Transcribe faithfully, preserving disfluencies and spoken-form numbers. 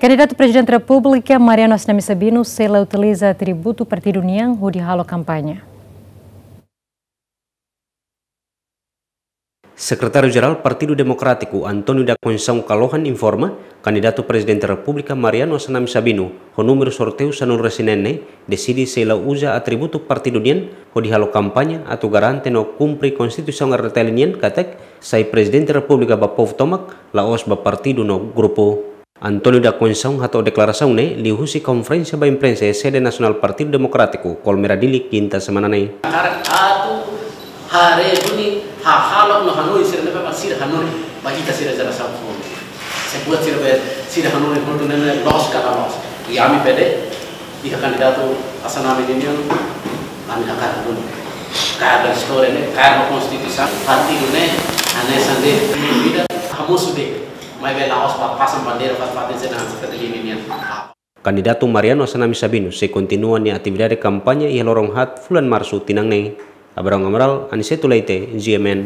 Kandidatu Prezidente Repúblika Mariano Assanami Sabino sei la utiliza atributu partidu nian hodi halo kampaña. Sekretáriu Jerál Partidu Demokrátiku, António da Conceição Kalohan, informa, kandidatu Prezidente Repúblika Mariano Assanami Sabino, ho númeru sorteiu sanulu-resin-neen ne'e, deside sei la uza atributu partidu nian hodi halo kampaña atu garante no kumpre Konstituisaun R D T L nian katak sai Prezidente Repúblika ba povu tomak, la'ós ba partidu no grupu. António da Conceição hato'o deklarasaun ne'e liuhusi konferénsia ba imprensa iha sede nasionál Partidu Demokrátiku, Kolmera Dili, kinta semana ne'e. Hakarak atu haree duni, hahalok no hanoin sira ne'ebé mak sira hanoin ba ita sira jerasaun foun. Se buat sira be sira hanoin hotu ne'e loos ka la loos. I ami P D, iha kandidatu Assanami ninian, ami hakarak duni. Kaer ba istória ne'e, kaer ba Konstituisaun, partidu ne'e, hanesan de'it, vida, hamosu de'it. Maibé la'ós ba pasan bandeira fali-fali sena seperti ini nian. Kandidatu Mariano Assanami Sabino sei kontinua nia atividade kampaña iha loron haat fulan Marsu tinan ne'e. Abrão Amaral, Aniceto Leite, G M N.